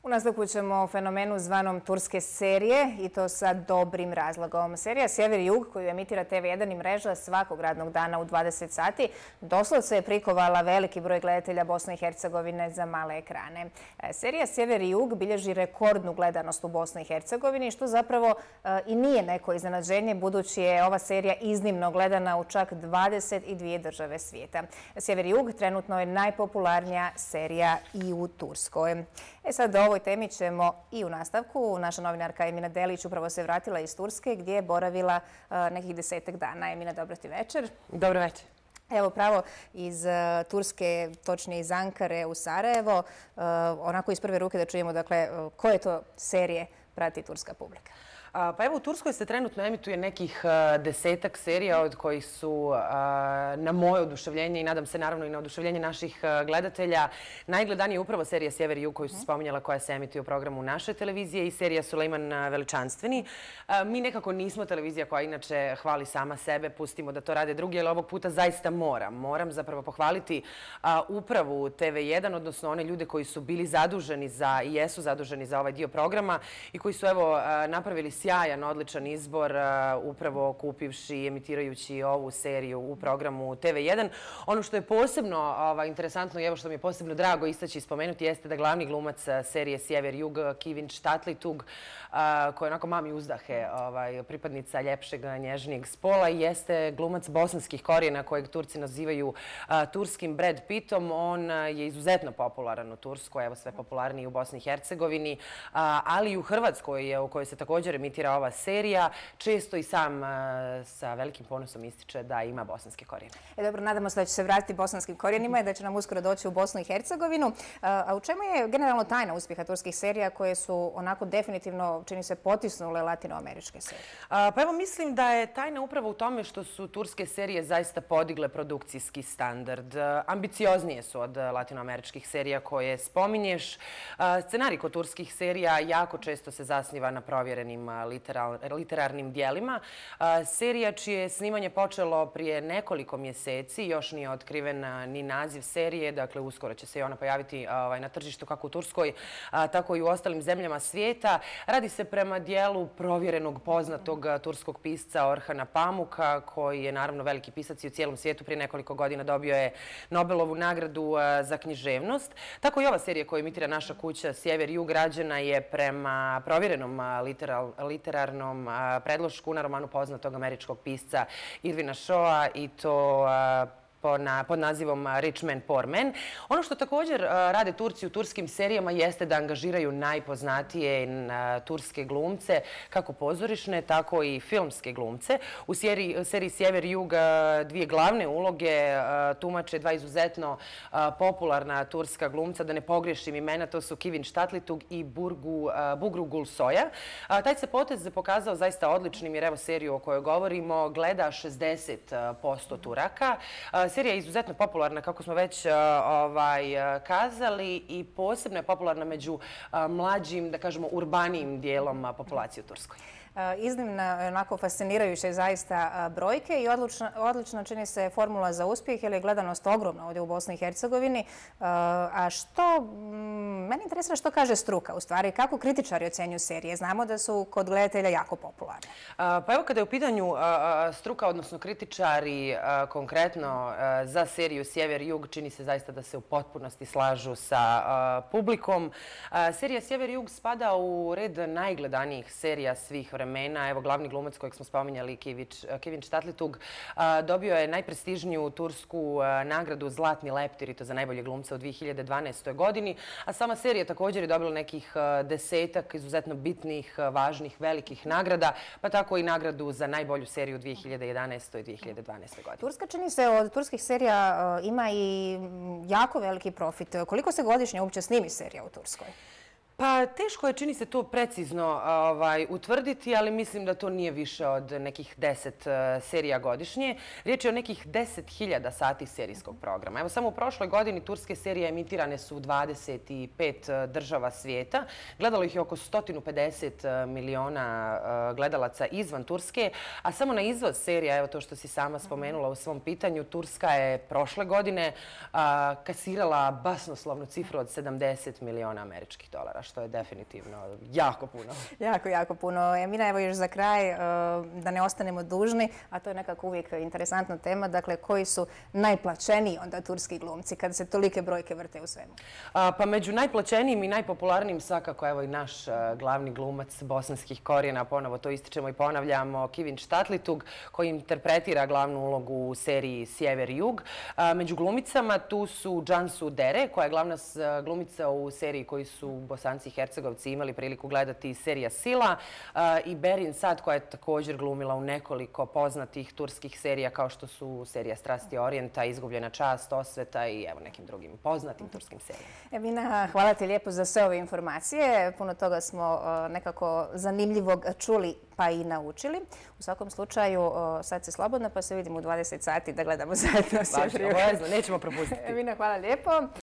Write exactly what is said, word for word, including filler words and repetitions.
U nastavku ćemo o fenomenu zvanom turske serije i to sa dobrim razlogom. Serija Sjever i Jug, koju emitira T V jedan i mreža svakog radnog dana u dvadeset sati, doslovce je prikovala veliki broj gledatelja Bosne i Hercegovine za male ekrane. Serija Sjever i Jug bilježi rekordnu gledanost u Bosni i Hercegovini, što zapravo i nije neko iznenađenje, budući je ova serija iznimno gledana u čak dvadeset dvije države svijeta. Sjever i Jug trenutno je najpopularnija serija i u Turskoj. E sad, o ovoj temi ćemo i u nastavku. Naša novinarka Emina Delić upravo se vratila iz Turske, gdje je boravila nekih desetak dana. Emina, dobro ti večer. Dobro večer. Evo, pravo iz Turske, točnije iz Ankare u Sarajevo. Onako iz prve ruke da čujemo, dakle, koje to serije prati turska publika? Pa evo, u Turskoj se trenutno emituje nekih desetak serija od kojih su na moje oduševljenje i nadam se naravno i na oduševljenje naših gledatelja najgledanije upravo serija Sjever i Jug koju se spominjala, koja se emituje u programu naše televizije, i serija Sulejman Veličanstveni. Mi nekako nismo televizija koja inače hvali sama sebe, pustimo da to rade drugi, ali ovog puta zaista moram. Moram zapravo pohvaliti upravu T V jedan, odnosno one ljude koji su bili zaduženi za i jesu zaduženi za ovaj dio programa i koji su evo napravili sjajan, odličan izbor, upravo kupivši i emitirajući ovu seriju u programu T V jedan. Ono što je posebno interesantno i evo što mi je posebno drago istaći i spomenuti jeste da glavni glumac serije Sjever i Jug, Kivin Štatlitug, koja je onako mami uzdahe, pripadnica ljepšeg, nježnijeg spola, jeste glumac bosanskih korijena kojeg Turci nazivaju turskim Brad Pittom. On je izuzetno popularan u Turskoj, evo sve popularniji u Bosni i Hercegovini, ali i u Hrvatskoj, u kojoj se također emitira ova serija. Često i sam sa velikim ponosom ističe da ima bosanske korijene. E, dobro, nadamo se da će se vratiti bosanskim korijenima i da će nam uskoro doći u Bosnu i Hercegovinu. A u čemu je generalno tajna uspjeha turskih serija koje su onako definitivno, čini se, potisnule latinoameričke serije? Pa evo, mislim da je tajna upravo u tome što su turske serije zaista podigle produkcijski standard. Ambicioznije su od latinoameričkih serija koje spominješ. Scenarij kod turskih serija jako često se zasniva na provjerenim literarnim dijelima. Serija čije snimanje počelo prije nekoliko mjeseci, još nije otkriven ni naziv serije, dakle uskoro će se i ona pojaviti na tržištu kako u Turskoj, tako i u ostalim zemljama svijeta. Radi se prema dijelu provjerenog poznatog turskog pisca Orhana Pamuka, koji je naravno veliki pisac i u cijelom svijetu. Prije nekoliko godina dobio je Nobelovu nagradu za književnost. Tako i ova serija koju emitira naša kuća Sjever i Jug rađena je prema provjerenom literarnom predlošku na romanu poznatog američkog pisca Irvina Shawa, i to pod nazivom Rich Man, Poor Man. Ono što također rade Turci u turskim serijama jeste da angažiraju najpoznatije turske glumce, kako pozorišne, tako i filmske glumce. U seriji Sjever i Jug dvije glavne uloge tumače dva izuzetno popularna turska glumca, da ne pogriješim imena, to su Kivin Štatlitug i Bugru Gulsoja. Taj se potez pokazao zaista odličnim, jer evo seriju o kojoj govorimo gleda šezdeset posto Turaka. Serija je izuzetno popularna, kako smo već kazali, i posebno je popularna među mlađim, da kažemo, urbanijim dijelom populacije u Turskoj. Iznimno, onako fascinirajuće zaista brojke i odlično čini se formula za uspjeh, jer je gledanost ogromna ovdje u Bosni i Hercegovini. A što, mene interesira što kaže struka, u stvari, kako kritičari ocjenjuju serije? Znamo da su kod gledatelja jako popularne. Pa evo, kada je u pitanju struka, odnosno kritičari konkretno za seriju Sjever i Jug, čini se zaista da se u potpunosti slažu sa publikom. Serija Sjever i Jug spada u red najgledanijih serija svih vremena. Evo, glavni glumac kojeg smo spominjali, Kivin Štatlitug, dobio je najprestižniju tursku nagradu Zlatni leptir, i to za najbolje glumca u dvije hiljade dvanaestoj godini. A sama serija također je dobila nekih desetak izuzetno bitnih, važnih, velikih nagrada, pa tako i nagradu za najbolju seriju u dvije hiljade jedanaestoj i dvije hiljade dvanaestoj godini. Turska, čini se, od turskih serija ima i jako veliki profit. Koliko se godišnje uopće snimi serija u Turskoj? Pa teško je, čini se, to precizno utvrditi, ali mislim da to nije više od nekih deset serija godišnje. Riječ je o nekih deset hiljada sati serijskog programa. Evo, samo u prošloj godini turske serije emitirane su u dvadeset pet država svijeta. Gledalo ih je oko sto pedeset miliona gledalaca izvan Turske, a samo na izvoz serija, evo to što si sama spomenula u svom pitanju, Turska je prošle godine kasirala basnoslovnu cifru od sedamdeset miliona američkih dolara, što je definitivno jako puno. Jako, jako puno. Emina, evo još za kraj, da ne ostanemo dužni, a to je nekako uvijek interesantna tema, dakle, koji su najplaćeniji onda turski glumci kada se tolike brojke vrte u svemu? Pa među najplaćenijim i najpopularnijim svakako evo i naš glavni glumac bosanskih korijena, ponovo to ističemo i ponavljamo, Kivin Štatlitug, koji interpretira glavnu ulogu u seriji Sjever-Jug. Među glumicama tu su Cansu Dere, koja je glavna glumica u seriji koji su Bosanci i Hercegovci imali priliku gledati, serija Sila, i Berin Sad, koja je također glumila u nekoliko poznatih turskih serija kao što su serija Strasti Orijenta, Izgubljena čast, Osveta i evo nekim drugim poznatim turskim serijama. Emina, hvala ti lijepo za sve ove informacije. Puno toga smo nekako zanimljivog čuli pa i naučili. U svakom slučaju, sad si slobodna pa se vidimo u dvadeset sati da gledamo zajedno Sjever-Jug. Nećemo propustiti. Emina, hvala lijepo.